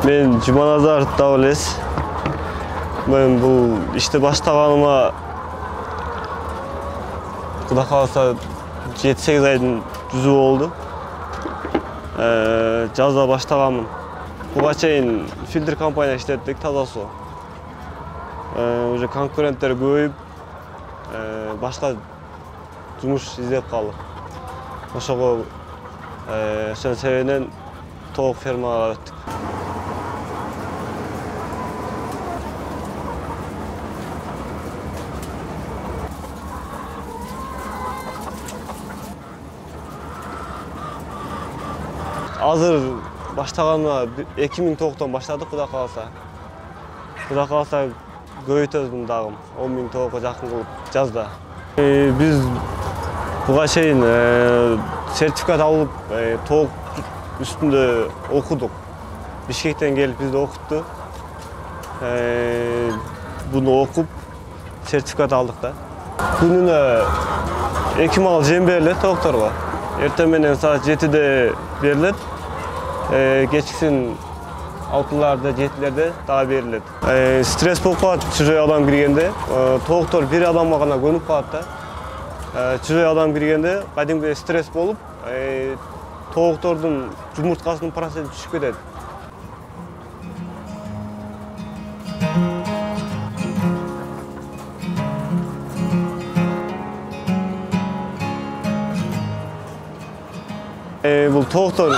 Мен Жуманазаров Давлес. Мен бул ишти баштаганыма Кудай кааласа 7-8 айдын жүзү болду. Жазда баштаганмын. Буга чейин фильтр компания иштеттик, таза суу. Уже конкуренттер көбөйүп, башка жумуш издеп калдык. Ошого ошонун себебинен тоок фермага өттүк. Азыр баштаганыма 2000 тооктон баштадык, Кудай кааласа. Кудай кааласа көбөйтөбүз дагы 10 000 тоокко жакын кылып жазда. Биз буга чейин сертификат алып, тоок үстүндө окудук. Бишкектен келип бизди окутту. Буну окуп сертификат алдык да. Күнүнө 2 мал жем берилет тоокторго. Эртең менен саат 7-де берилет. Кечкисин 6-ларда, 7-лерде дагы берилет. Стресс болуп калат чужой адам киргенде. Тооктор бир адамга гана көнүп калат да. Чужой адам киргенде кадимки стресс болуп, тооктордун жумурткасынын проценти түшүп кетет. Бул тооктор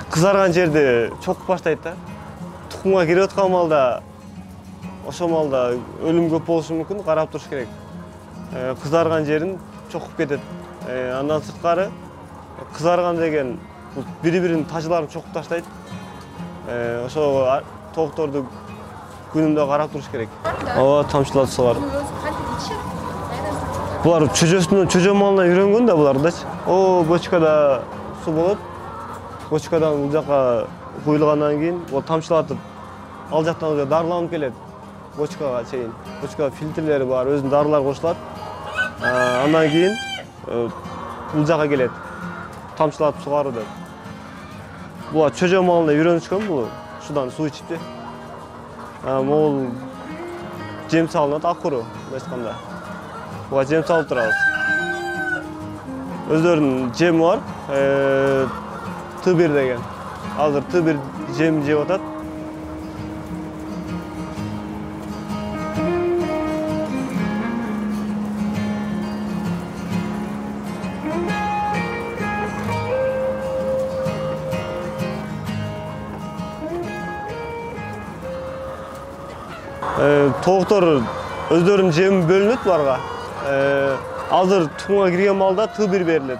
кызарган жерди чокуп баштайт да. Тукумга кирип аткан малда, ошол малда өлүм көп болушу мүмкүн, карап туруш керек. Кызарган жерин чокуп кетет. Андан сырткары кызарган деген бул бири-биринин тажыларын чокуп таштайт. Ошого тоокторду күнүндө карап туруш керек. Ооба, тамчылатып сугар. Булар чөжө малына үйрөнгөн да булардачы. Бочкада суу болот. Бочкадан бул жака куйулгандан кийин ол тамчылатып ал жактан уже дарыланып келет бочкага чейин. Бочкада фильтрлери бар, өзүнүн дарылар кошулат. Андан кийин бул жака келет. Тамчылатып сугаруу деп. Булар чөжө малына үйрөнүшкөн бул. Ушудан суу ичипти. Могул жем салынат, акуру айтканда. Буга жем салып турабыз. Өздөрүнүн жеми бар. Т1 деген. Азыр Т1 жем жеп атат. Тооктор өздөрүнүн жеми бөлүнөт буларга. Азыр тукумга кирген малда Т1 берилет.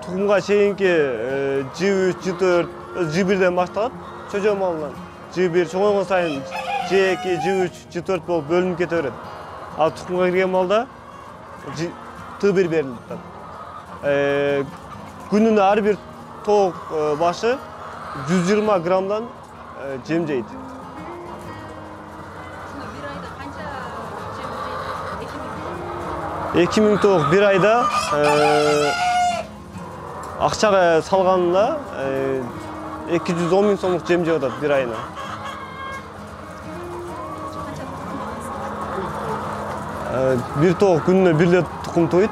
Тукумга чейинки J3, J4, J1ден башталат чөжө малынан. J1 чоңойгон сайын J2, J3, J4 болуп бөлүнүп кете берет. Ал тукумга кирген малда Т1 берилет. Күнүнө ар бир тоок башы 120 граммдан жем жейт. 2000 тоок бир айда акчага салганда 210 000 сомдук жем жеп атат бир айына. Бир тоок күнүнө бир тукум тоойт.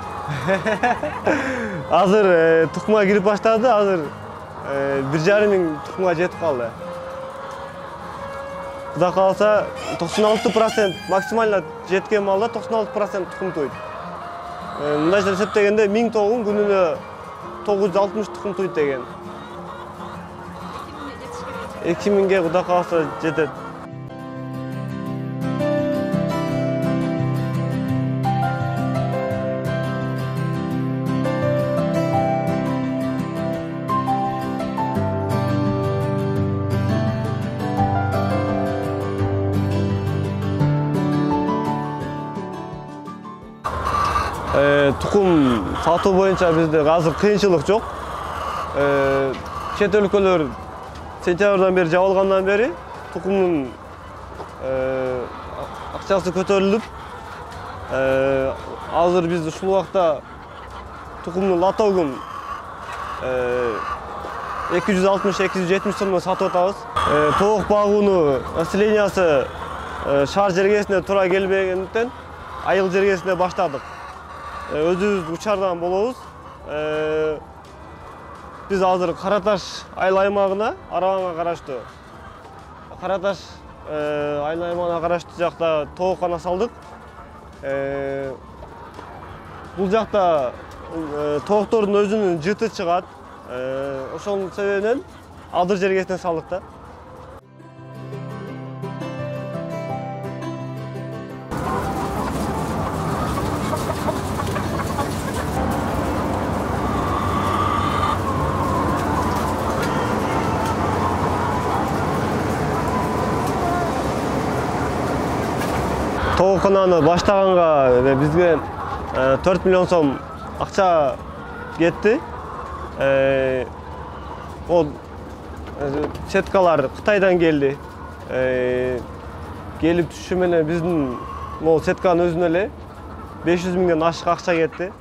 Азыр тукумга кирип баштады, азыр 1,5 000 тукумга жетип калды. Кудай кааласа 96% максимально жеткен малда 96% тукум тоойт. Мындайча эсептегенде 1000 тоогун күнүнө 960 тукум тоойт деген. 2000ге Кудай кааласа жетет. Тукум сатуу боюнча бизде азыр кыйынчылык жок. Чет өлкөлөр сентябрдан бери жабылгандан бери тукумдун акчасы көтөрүлүп, азыр биз ушул убакта тукумдун лотогун 260-270 сомдон сатып атабыз. Тоок багуунун населениясы шаар жергесине туура келбегендиктен айыл жергесине баштадык. Өзүбүз учардан болобуз. Биз азыр Кара Таш айыл аймагына, Арабанга караштуу Кара Таш айыл аймагына караштуу жакта тооккана салдык. Бул жакта тооктордун өзүнүн жыты чыгат. Ошонун себебинен адыр жергесине салдык да. Тооккананы баштаганга бизге 4 миллион сом акча кетти. Ол сеткалар Кытайдан келди. Келип түшүшү менен биздин могу сетканын өзүнө эле 500 миңден ашык акча кетти.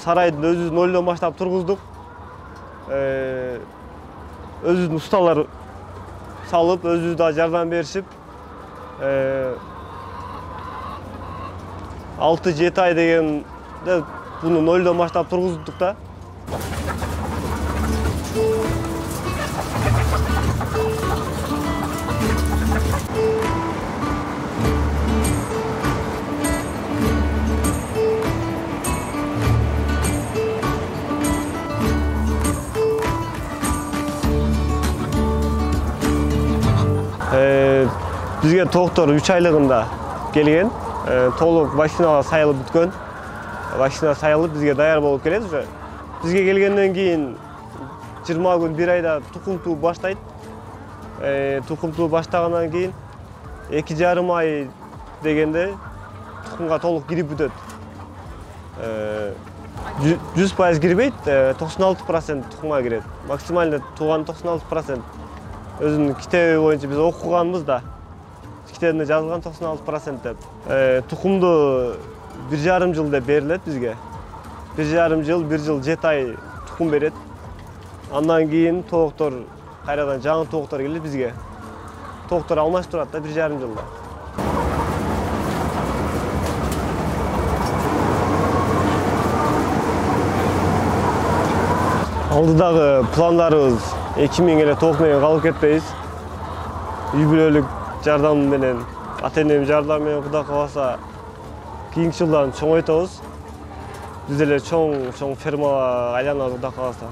Сарайды өзүбүз нолдон баштап тургуздук. Өзүбүздүн усталар салып, өзүбүз да жардам беришип, 6-7 ай дегенде буну нолдон баштап тургуздук да. Бизге тооктор 3 айлыгында келген. Толук вакцинага сайылып бүткөн. Вакцина сайылып бизге даяр болуп келет уже. Бизге келгенден кийин 20 күн, 1 айда тукум туу баштайт. Тукум туу баштагандан кийин 2,5 ай дегенде тукумга толук кирип бүтөт. 100% кирбейт, 96% тукумга кирет. Максимально тууган 96%. Өзүнүн китеби боюнча биз окуганбыз да. Китебинде жазылган 96% деп. Тукумду 1,5 жыл деп берилет бизге. 1,5 жыл, 1 жыл 7 ай тукум берет. Андан кийин тооктор кайрадан жаңы тооктор келет бизге. Тооктор алмаштырат да 1,5 жылда. Алдыдагы пландарыбыз 2000 эле тоок менен калып кетпейбиз. Үй бүлөлүк жардам менен, ата-энем жардам менен Кудай кааласа кийинки жылдан чоңойтобуз. Биз эле чоң фермага айланабыз Кудай кааласа.